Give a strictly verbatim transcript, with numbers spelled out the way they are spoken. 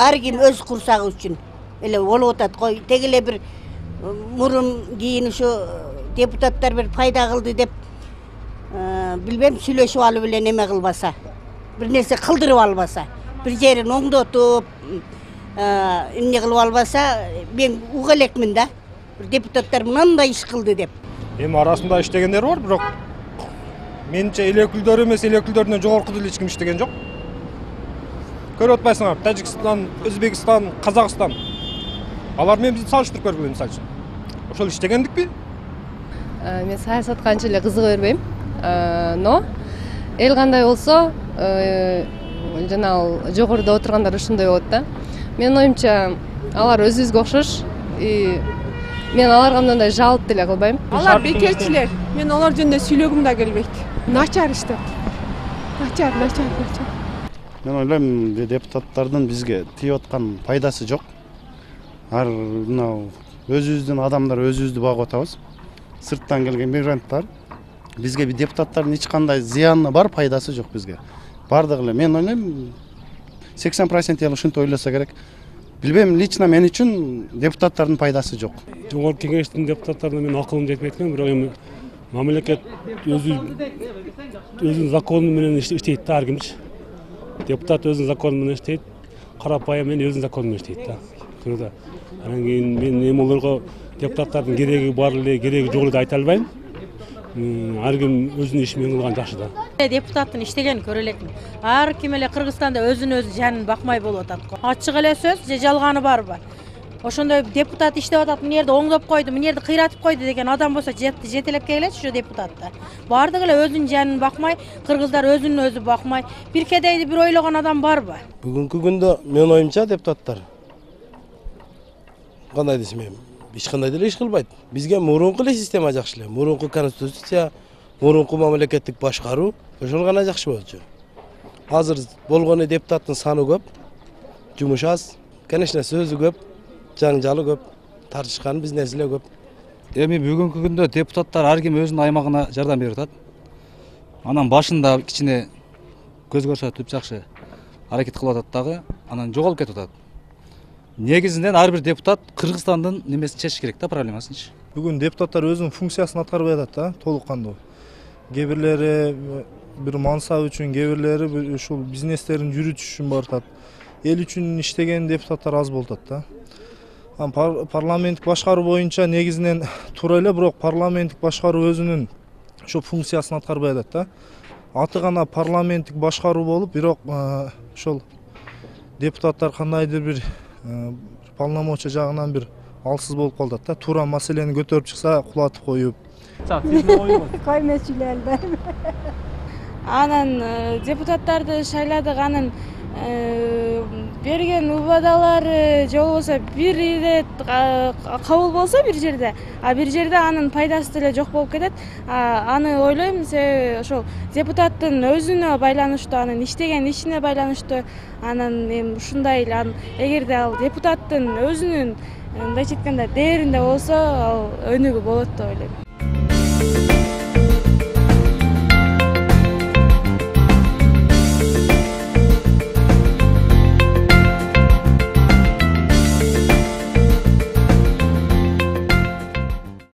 ар ким өз курсагы үчүн эле болуп атат го. Теги эле бир мурун кийин ушу депутаттар бир пайда кылды деп билбем сүйлөшүп алып эле неме кылбаса, бир нерсе кылдырып албаса, бир жерин оңдотуп эмне кылып албаса, мен уга элекмин да. Бир депутаттар мындай иш кылды деп. Эми арасында иштегендер бар, бирок менимче эл өкүлдөр эмес, эл өкүлдөрүнөн жогорку деле эч ким иштеген жок. Көрүп атпайсыңарбы? Тажикстан, Өзбекстан, Казакстан. Алар менен бизди салыштырып көргүлө мисалы үчүн. Ошол иштегендикпи? Мен саясатка анча эле кызыга бербейм. Но эл кандай болсо, жана жогоруда отургандар ушундай болот да. Менин оюмча, алар өзүбүзгө окшош. Мен аларга мындай жалп деле кылбайм. Алар бекерчилер. Мен алар жөнүндө сүйлөгүм да келбейт. Начар иштеп. Начар, начар, начар. Мен ойлойм, депутаттардын бизге тийип аткан пайдасы жок. Ар мына өзүбүздүн адамдар өзүбүздү багып атабыз. Сырттан келген мигранттар бизге бир депутаттардын эч кандай зыяны бар, пайдасы жок бизге. Бардыгы эле мен ойлойм сексен процент эле ушинтип ойлосо керек. Билбейм, лично мен үчүн депутаттардын пайдасы жок. Жогорку кеңештин депутаттарына мен акылым жетпей эткем, бирок эми мамлекет өзү өзүнүн закону менен иштейт да ар кимчи. Депутат өзүнүн закону менен иштейт, карапайым мен өзүнүн закону менен иштейт да. Көрдү. Анан кийин мен эми олорго депутаттардын кереги бар эле, кереги жок эле деп айта албайм. Ар ким өзүнүн ишин менен кылган жакшы да. Депутаттын иштегенин көрө элекмин. Ар ким эле Кыргызстанда өзүнүн өзү жанын бакмай болуп атат го. Ачык эле сөз, же жалганы барбы? Ошондой депутат иштеп атат, мына жерде оңдоп койду, мына жерде кыйратып койду деген адам болсо жетелеп келет ушу депутаттар. Бардыгы эле өзүнүн жанын бакмай, кыргыздар өзүнүн өзү бакмай, бир кедейди бир ойлогон адам барбы? Бүгүнкү күндө менин оюмча депутаттар кандай десем, эч кандай деле иш кылбайт. Бизге мурунку эле система жакшы эле. Мурунку конституция, мурунку мамлекеттик башкаруу ошол гана жакшы болчу. Азыр болгону депутаттын саны көп, жумуш аз, конечно сөзү көп, жаңжалы көп, тартышкан бизнеси эле көп. Эми бүгүнкү күндө депутаттар ар ким өзүнүн аймагына жардам берип атат. Анан башында кичине көз көрсөтүп жакшы аракет кылып атат дагы, анан жоголуп кетип атат. Негизинен ар бир депутат Кыргызстандын немесин чечиш керек да, проблемасынчы. Бүгүн депутаттар өзүнүн функциясын аткарбай атат да, толук кандуу. Кээ бирлери бир мансап үчүн, кээ бирлери ушул бизнестерин жүрүтүш үчүн баратат. Эл үчүн иштеген депутаттар аз болуп атат да. Парламенттик башкаруу боюнча негизинен туура эле, бирок парламенттик башкаруу өзүнүн ошо функциясын аткарбай атат да. Аты гана парламенттик башкаруу болуп, бирок ошол депутаттар кандайдыр бир полномочия жагынан бир алсыз болуп калат да. Туура маселени көтөрүп чыкса, кулатып коюп. Кой меселелер. Анан депутаттарды шайладык, анын берген убадалары же болбосо бир ирет кабыл болсо бир жерде, а бир жерде анын пайдасы деле жок болуп кетет. Аны ойлойм, себеби ошол депутаттын өзүнө байланыштуу, анын иштеген ишине байланыштуу. Анан эми ушундай эле, эгерде ал депутаттын өзүнүн мындайча айтканда дээринде болсо, ал өнүгүү болот деп ойлойм.